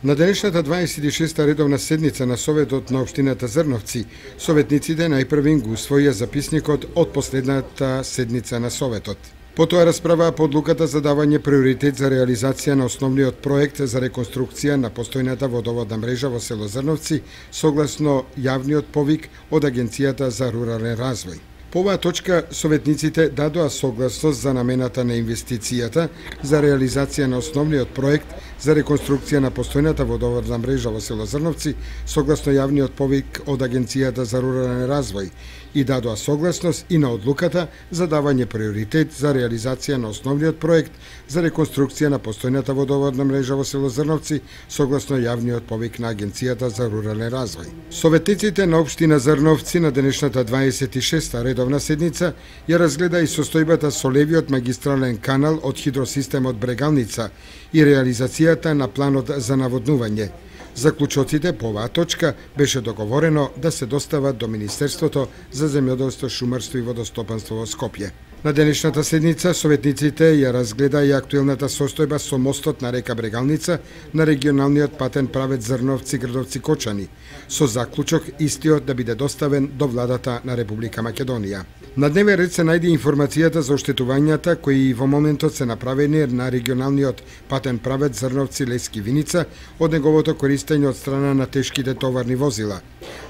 На денешната 26-та редовна седница на Советот на Општината Зрновци, советниците најпрвин го усвоија записникот од последната седница на Советот. Потоа расправаа по одлуката за давање приоритет за реализација на основниот проект за реконструкција на постојната водоводна мрежа во село Зрновци, согласно јавниот повик од Агенцијата за рурален развој. По оваа точка, советниците дадоа согласност за намената на инвестицијата за реализација на основниот проект за реконструкција на постојната водоводна мрежа во село Зрновци, согласно јавниот повик од Агенцијата за рурален развој, и дадоа согласност и на одлуката за давање приоритет за реализација на основниот проект за реконструкција на постојната водоводна мрежа во село Зрновци, согласно јавниот повик на Агенцијата за рурален развој. Советниците на Општина Зрновци на денешната 26-та редовна седница ја разгледа и состојбата со левиот магистрален канал од хидросистемот Брегалница и реализацијата на планот за наводнување. Заклучоците по оваа точка беше договорено да се достават до Министерството за земјоделство, шумарство и водостопанство во Скопје. На денешната седница советниците ја разгледа и актуелната состојба со мостот на река Брегалница на регионалниот патен правец Зрновци-Грдовци-Кочани, со заклучок истиот да биде доставен до владата на Република Македонија. На дневен ред се најде информацијата за оштетувањата кои во моментот се направени на регионалниот патен правец Зрновци-Лески-Виница од неговото користење од страна на тешките товарни возила.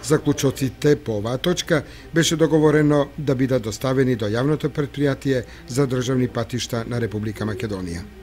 Заклучоците по оваа точка беше договорено да бидат доставени до јавното претпријатие за државни патишта на Република Македонија.